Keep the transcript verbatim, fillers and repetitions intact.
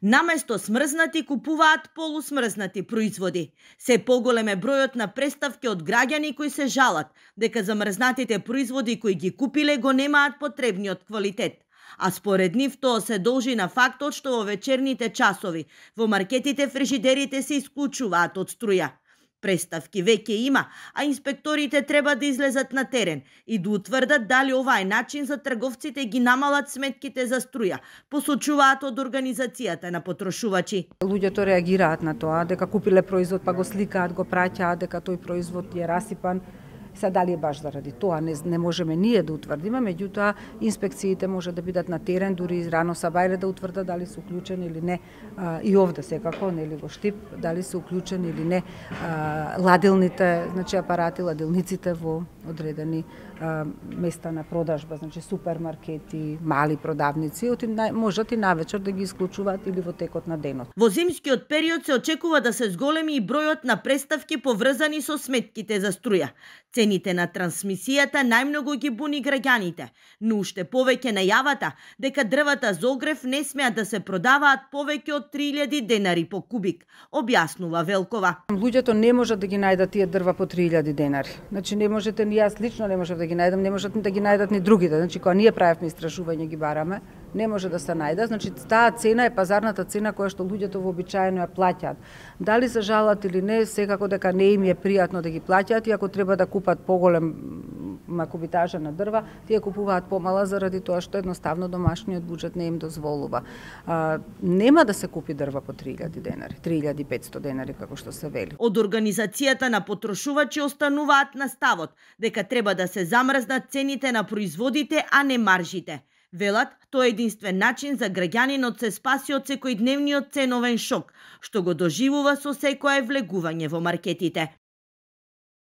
Наместо смрзнати купуваат полусмрзнати производи. Се поголем е бројот на преставки од граѓани кои се жалат дека замрзнатите производи кои ги купиле го немаат потребниот квалитет. А според нив тоа се должи на фактот што во вечерните часови во маркетите фрижидерите се исклучуваат од струја. Преставки веќе има, а инспекторите треба да излезат на терен и да утврдат дали ова е начин за трговците ги намалат сметките за струја, посочуваат од организацијата на потрошувачи. Луѓето реагираат на тоа, дека купиле производ па го сликаат, го праќаат дека тој производ е расипан. Са дали е баш заради тоа, не, не можеме ние да утврдиме, меѓутоа инспекциите може да бидат на терен, дури рано сабајле да утврдат дали се уклучени или не, а, и овде секако, нели во Штип, дали се уклучени или не а, ладилните, значи апарати, ладилниците во одредени а, места на продажба, значи супермаркети, мали продавници, оти можат и навечер да ги исклучуваат или во текот на денот. Во зимскиот период се очекува да се зголеми и бројот на преставки поврзани со сметките за струја. Цените на трансмисијата најмногу ги буни граѓаните, но уште повеќе најавата дека дрвата за огрев не смеат да се продаваат повеќе од три илјади денари по кубик, објаснува Велкова. Луѓето не можат да ги најдат тие дрва по три илјади денари. Значи не можете, ни јас лично не можев да ги најдам, не можат да ги најдат ни другите. Значи кога ние правевме истражување ги бараме, не може да се најде. Значи таа цена е пазарната цена која што луѓето вообичаено ја плаќаат. Дали се жалат или не, секако дека не им е пријатно да ги плаќаат и ако треба да купат поголем макубитажа на дрва, тие купуваат помала заради тоа што едноставно домашниот буџет не им дозволува. А, нема да се купи дрва по три илјади денари, три илјади и петсто денари како што се вели. Од организацијата на потрошувачи остануваат на ставот дека треба да се замрзнат цените на производите, а не маржите. Велат, тоа е единствен начин за граѓанинот се спаси од секојдневниот ценовен шок, што го доживува со секое влегување во маркетите.